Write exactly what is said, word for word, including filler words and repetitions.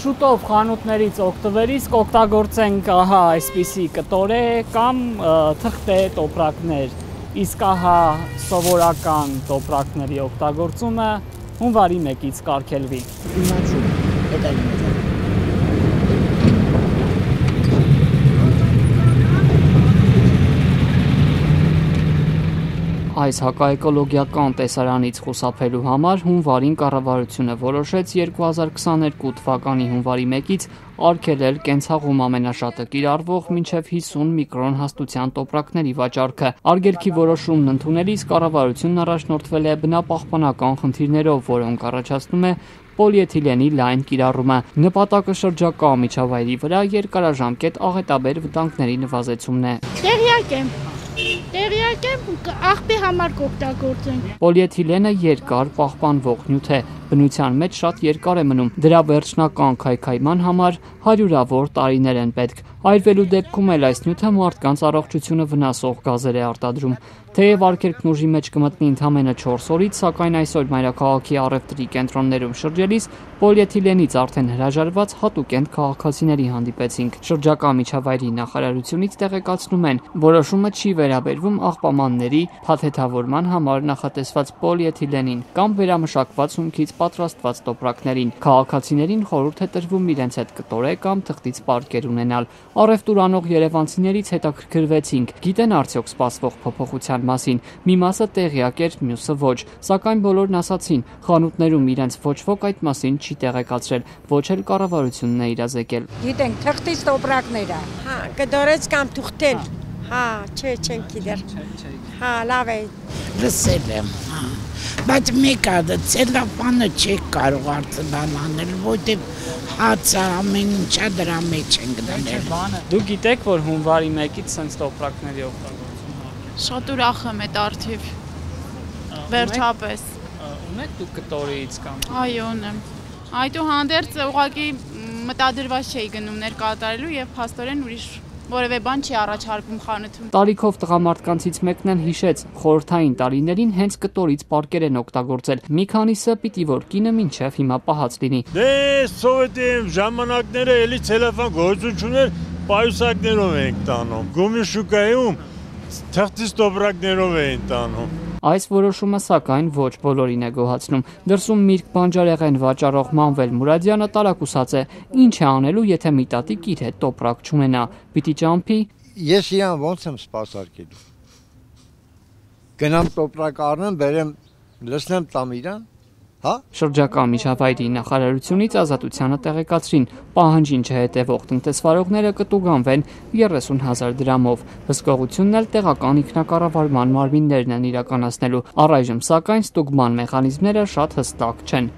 Շուտով խանութներից օգտվելիս կօգտագործենք ահա այսպիսի կտորե կամ թղթե տոպրակներ, իսկ ահա սովորական տոպրակների օգտագործումը հունվարի մեկից կարգելվի։ Այս հակաէկոլոգիական տեսարանից խուսափելու համար հունվարին կառավարությունը որոշեց երկու հազար քսաներկու թվականի հունվարի մեկից արգելել կենցաղում ամենաշատը կիրառվող մինչև հիսուն միկրոն հաստության տոպրակների վաճառքը։ Արգելքի որոշումն ընդունելիս կառավարությունն առաջնորդվել է բնապահպանական խնդիրներով, որոնք առաջացնում է պոլիէթիլենի լայն կիրառումը։ Նպատակը շրջակա միջավայրի վրա երկարաժամկետ աղետաբեր վտանգների նվազեցումն է։ Տեղյակ եմ։ Տեղյակ եմ, աղբի համար կօգտագործենք։ Պոլիէթիլենը երկար պահպանվող նյութ է, բնության մեջ շատ երկար է մնում։ Դրա վերջնական քայքայման համար հարյուրավոր տարիներ են պետք։ Այրվելու դեպքում էլ այս նյութը մարդկանց առողջությունը վնասող գազեր է արտադրում։ Թեև արգելքն ուժի մեջ կմտնի ընդամենը չորս օրից, սակայն այսօր մայրաքաղաքի առևտրի կենտրոններում շրջելիս պոլիէթիլենից արդեն հրաժարված հատուկենտ քաղաքացիների հանդիպեցինք։ Շրջակա միջավայրի նախարարությունից տեղեկացնում են, որոշումը չի վերաբերվում աղբամանների փաթեթավորման համար նախատեսված պոլիէթիլենին կամ վերամշակված հումքից պատրաստված տոպրակներին։ Քաղաքացիներին խորհուրդ է տրվում իրենց հետ կտորե կամ թղթից պարկեր ունենալ։ Առևտուր անող երևանցիներից հետաքրքրվեցինք, գիտեն արդյոք սպասվող փոփոխության մասին։ Մի մասը տեղյակ էր, մյուսը ոչ, սակայն բոլորն ասացին, խանութներում իրենց ոչ ոք այդ մասին չի տեղեկացրել, ոչ էլ կառավարությունն է իրազեկել։ Գիտենք, թղթից տոպրակները։ Հա, կդորեց կամ թուղթել։ Հա, չէ, չենք գիտեր։ Հա, լավ է։ Լսել եմ, հա։ Բայց մեկ ադը ցելոֆանը չի կարող արծբան անել, որտեղ հացը ամեն ինչա դրա մեջ են գտնել։ Դու գիտեք, որ հունվարի մեկից sense տոպրակների օգտագործում արգելվում։ Շատ ուրախ եմ այդ արդիվ։ Վերջապես։ Ունեք դու կտորից կամ։ Այո, ունեմ։ Այդուհանդերձ ուղղակի մտադրված չէի գնումներ կատարելու եւ փաստորեն ուրիշ որևէ բան չի առաջարկվում խանութում։ Տարիքով տղամարդկանցից մեկն էլ հիշեց, խորհրդային տարիներին հենց կտորից պարկեր են օգտագործել։ Մի քանիսը պիտի որ կինը մինչև հիմա պահած լինի։ Դե սովետի ժամանակները էլի ցելոֆան գործություն էր, պայուսակներով ենք տանում։ Գումի շուկայում թղթից տոպրակներով էին տանում։ Այս որոշումը սակայն ոչ բոլորին է գոհացնում։ Դրսում Միրգ բանջարեղեն վաճառող Մանվել Մուրադյանը տարակուսած է, ինչ է անելու, եթե մի տատիկ իր հետ տոպրակ չունենա, պիտի ճամփի։ Ես իրան ոնց եմ սպասարկելու։ Գնամ տոպրակ առնեմ, բերեմ, լցնեմ տամ իրան, հա։ Շրջակա միջավայրի նախարարությունից Ազատությանը տեղեկացրին, պահանջին չհետևող տնտեսվարողները կտուգանվեն երեսուն հազար դրամով։ Հսկողությունն էլ տեղական ինքնակառավարման մարմիններն են իրականացնելու։ Առայժմ սակայն ստուգման մեխանիզմները շատ հստակ չեն։